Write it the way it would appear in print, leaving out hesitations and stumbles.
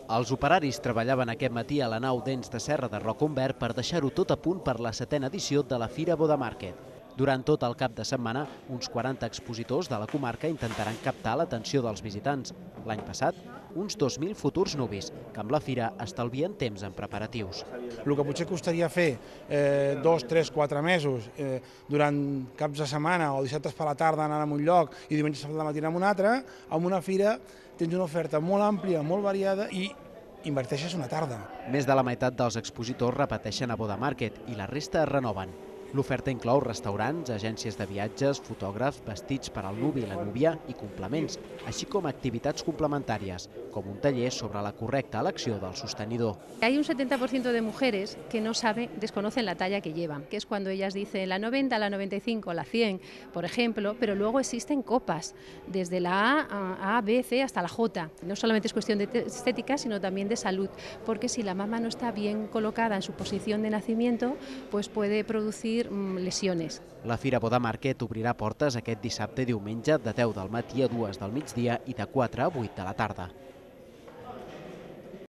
Els operaris treballaven aquest matí a la nau Dents de Serra de Rocahumbert per deixar-ho tot a punt per la 7a edició de la Fira Boda Market. Durant tot el cap de setmana, uns 40 expositors de la comarca intentaran captar l'atenció dels visitants. L'any passat, uns 2.000 futurs nuvis, que amb la fira estalvien temps en preparatius. El que potser costaria fer 2, 3, 4 mesos durant caps de setmana o dissabtes per la tarda anant a un lloc i diumenges per la matina a un altre, amb una fira tens una oferta molt àmplia, molt variada i inverteixes una tarda. Més de la meitat dels expositors repeteixen a Boda Market i la resta es renoven. L'oferta inclou restaurants, agències de viatges, fotògrafs, vestits per al nuvi i la núvia i complements, així com activitats complementàries, com un taller sobre la correcta elecció del sostenidor. Hay un 70% de mujeres que no saben, desconocen la talla que llevan, que es cuando ellas dicen la 90, la 95, la 100, por ejemplo, pero luego existen copas, desde la A, B, C hasta la J. No solamente es cuestión de estética, sino también de salud, porque si la mama no está bien colocada en su posición de nacimiento, pues puede producir lesiones. La Fira Boda Market obrirà portes aquest dissabte i diumenge de 10 del matí a 2 del migdia i de 4 a 8 de la tarda.